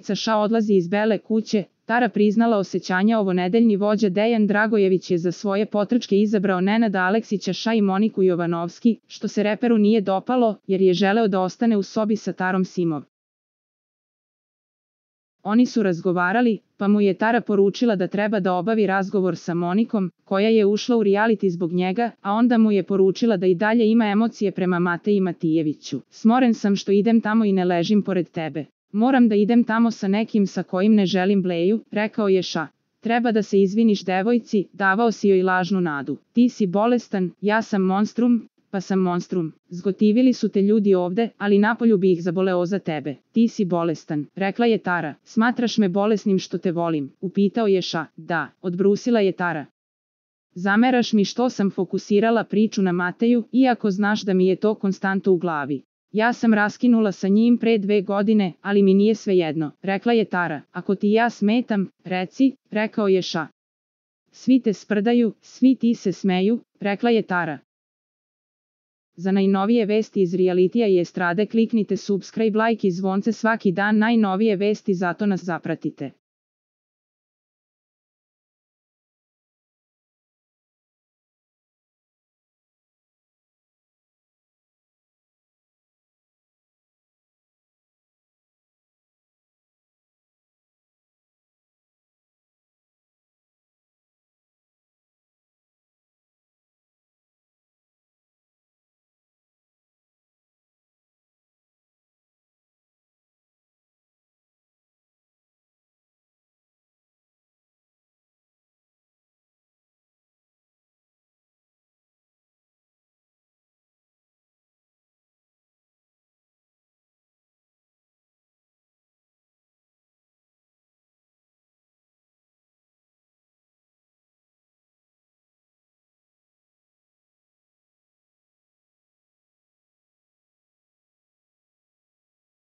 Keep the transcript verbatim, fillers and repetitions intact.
porodica Ša odlazi iz Bele kuće, Tara priznala osjećanja. Ovonedeljni vođa Dejan Dragojević je za svoje potrčke izabrao Nenada Aleksića Ša i Moniku Jovanovski, što se reperu nije dopalo, jer je želeo da ostane u sobi sa Tarom Simov. Oni su razgovarali, pa mu je Tara poručila da treba da obavi razgovor sa Monikom, koja je ušla u reality zbog njega, a onda mu je poručila da i dalje ima emocije prema Mateji Matijeviću. Smoren sam što idem tamo i ne ležim pored tebe. Moram da idem tamo sa nekim sa kojim ne želim bleju, rekao je Ša. Treba da se izviniš devojci, davao si joj lažnu nadu. Ti si bolestan, ja sam monstrum, pa sam monstrum. Zgotivili su te ljudi ovde, ali napolju bi ih zaboleo za tebe. Ti si bolestan, rekla je Tara. Smatraš me bolesnim što te volim, upitao je Ša. Da, odbrusila je Tara. Zameraš mi što sam fokusirala priču na Mateju, iako znaš da mi je to konstantno u glavi. Ja sam raskinula sa njim pre dve godine, ali mi nije svejedno, rekla je Tara. Ako ti ja smetam, reci, rekao je Ša. Svi te sprdaju, svi ti se smeju, rekla je Tara. Za najnovije vesti iz realitija i estrade kliknite subscribe, like i zvonce svaki dan. Najnovije vesti, zato nas zapratite.